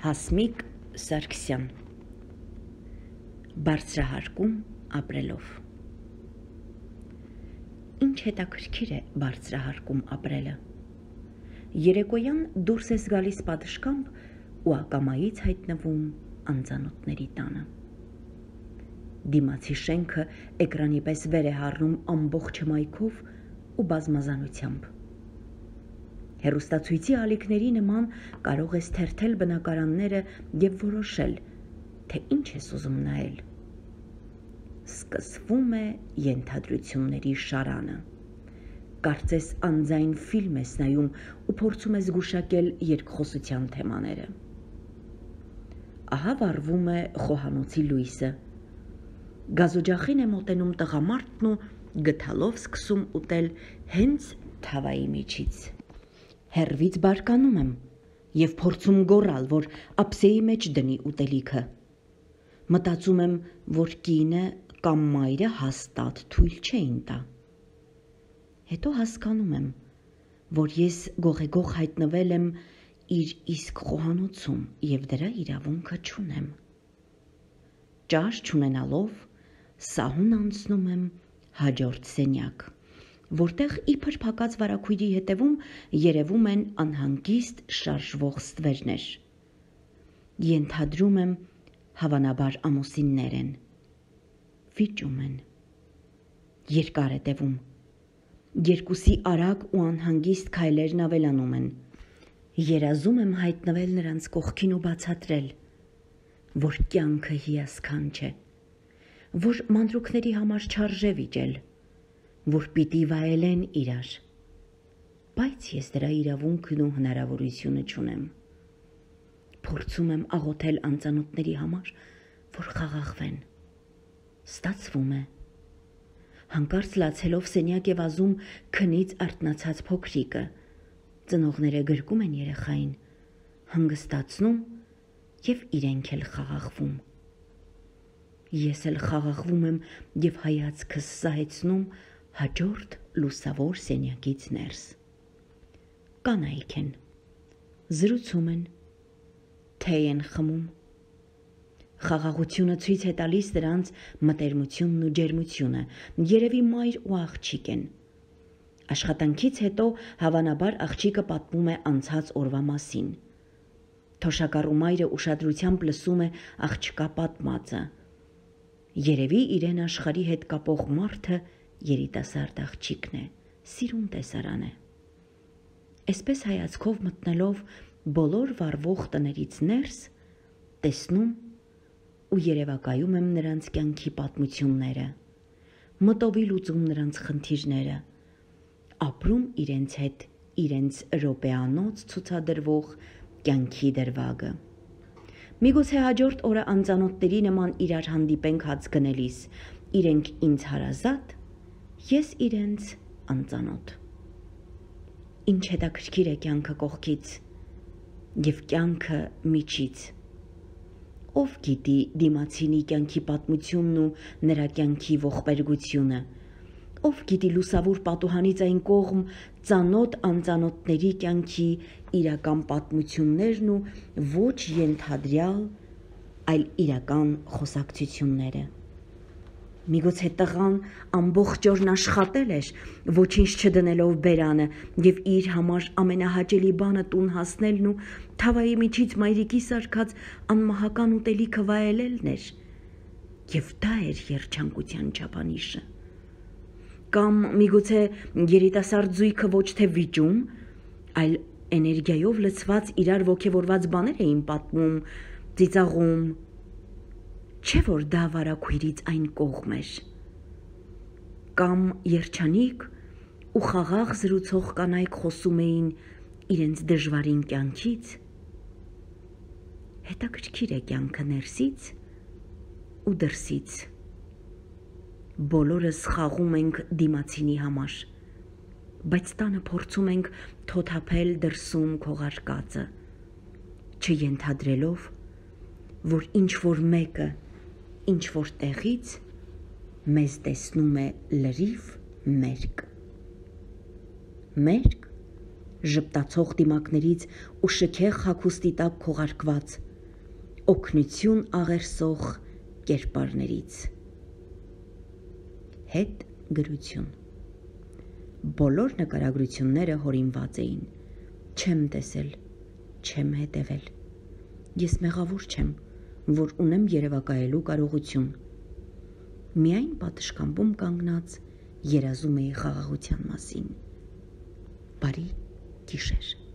Հասմիկ Սարգսյան Բարձրահարկում ապրելով Ինչ հետաքրքիր է բարձրահարկում ապրելը։ Երեկոյան դուրս ես գալիս պատշգամբ ու ակամայից հայտնվում անծանոթների տանը։ Դիմացի շենքը էկրանի պես վեր է հառնում ամբողջ հմայքով ու բազմազանությամբ։ Հեռուստացույցի ալիքների նման կարող ես թերթել բնակարանները և որոշել, թե ինչ ես ուզում նայել։ Սկսվում է ենթադրությունների շարանը։ Կարծես անձայն ֆիլմ ես նայում ու փորձում ես զգուշակել երկխոսության թեմաները։ Ահա վառվում է խոհանոցի լույսը։ Գազօջախին է մոտենում տղամարդն ու գդալով սկսում ուտել հենց թավայի միջից։ Հեռվից բարկանում եմ և փորձում գոռալ, որ ափսեի մեջ դնի ուտելիքը։ Մտածում եմ, որ կինը կամ մայրը հաստատ թույլ չէին տա։ Հետո հասկանում եմ, որ ես գողեգող հայտնվել եմ իր իսկ խոհանոցում և դրա իրավունքը չունեմ։ Ճաշ չունենալով սահուն անցնում եմ հաջորդ սենյակ, որտեղ իբր փակած վարագույրի հետևում երևում են անհանգիստ շարժվող ստվերներ։ Ենթադրում եմ, հավանաբար ամուսիններ են։ Վիճում են։ Երկար է տևում։ Երկուսի արագ ու անհանգիստ քայլերն ավելանում են։ Երազում եմ հայտնվել նրանց կողքին ու բացատրել, որ կյանքը հիասքանչ է, որ մանրուքների համար չարժե վիճել, որ պիտի վայելեն իրար, բայց ես դրա իրավունքն ու հնարավորությունը չունեմ։ Փորձում եմ աղոթել անծանոթների համար, որ խաղաղվեն։ Ստացվում է։ Հանկարծ լացելով սենյակ է վազում քնից արթնացած փոքրիկը։ Ծնողները գրկում են երեխային, հանգստացնում և իրենք էլ խաղաղվում։ Ես էլ խաղաղվում եմ և հայացքս սահեցնում հաջորդ լուսավոր սենյակից ներս։ Կանայք են, զրուցում են, թեյ են խմում։ Խաղաղությունը ցույց է տալիս նրանց մտերմությունն ու ջերմությունը, երևի մայր ու աղջիկ են։ Աշխատանքից հետո հավանաբար աղջիկը պատմում է անցած օրվա մասին։ Թոշակառու մայրը ուշադրությամբ լսում է աղջկա պատմածը։ Երևի իրեն աշխարհի հետ կապող մարդը երիտասարդ աղջիկն է, սիրուն տեսարան է։ Այսպես հայացքով մտնելով բոլոր վառվող տներից ներս, տեսնում ու երևակայում եմ նրանց կյանքի պատմությունները, մտովի լուծում նրանց խնդիրները, ապրում իրենց հետ իրենց րոպեանոց ցուցադրվող կյանքի դրվագը։ Միգուցե հաջորդ օրը անծանոթների նման իրար հանդիպենք հաց գնելիս, իրենք ինձ հարազատ, ես իրենց անծանոթ։ Ինչ հետաքրքիր է կյանքը կողքից և կյանքը միջից։ Ով գիտի դիմացինի կյանքի պատմությունն ու նրա կյանքի ողբերգությունը, ով գիտի լուսավոր պատուհանից այն կողմ ծանոթ անծանոթների կյանքի իրական պատմություններն ու ոչ ենթադրյալ, այլ իրական խոսակցությունները։ Միգուցե տղան ամբողջ օրն աշխատել էր, ոչինչ չդնելով բերանը, և իր համար ամենահաճելի բանը տուն հասնելն ու թավայի միջից մայրիկի սարքած անմահական ուտելիքը վայելելն էր, և դա էր երջանկության չափանիշը։ Կամ միգուցե երիտասարդ զույգը ոչ թե վիճում, այլ էներգիայով լցված իրար ոգևորված բաներ էին պատմում, ծիծաղում, չէ՞ որ դա վարագույրից այն կողմ էր։ Կամ երջանիկ ու խաղաղ զրուցող կանայք խոսում էին իրենց դժվարին կյանքից։ Հետաքրքիր է կյանքը ներսից ու դրսից։ Բոլորս խաղում ենք դիմացինի համար, բայց տանը փորձում ենք թոթափել դրսում քողարկածը, չենթադրելով, որ ինչ-որ մեկը ինչ-որ տեղից մեզ տեսնում է լրիվ մերկ։ Մերկ, ժպտացող դիմակներից ու շքեղ հագուստի տակ քողարկված, օգնություն աղերսող կերպարներից։ Հետ գրություն։ Բոլոր նկարագրությունները հորինված էին։ Չեմ տեսել, չեմ հետևել։ Ես մեղավոր չեմ, որ ունեմ երևակայելու կարողություն։ Միայն պատշգամբում կանգնած երազում էի խաղաղության մասին։ Բարի գիշեր։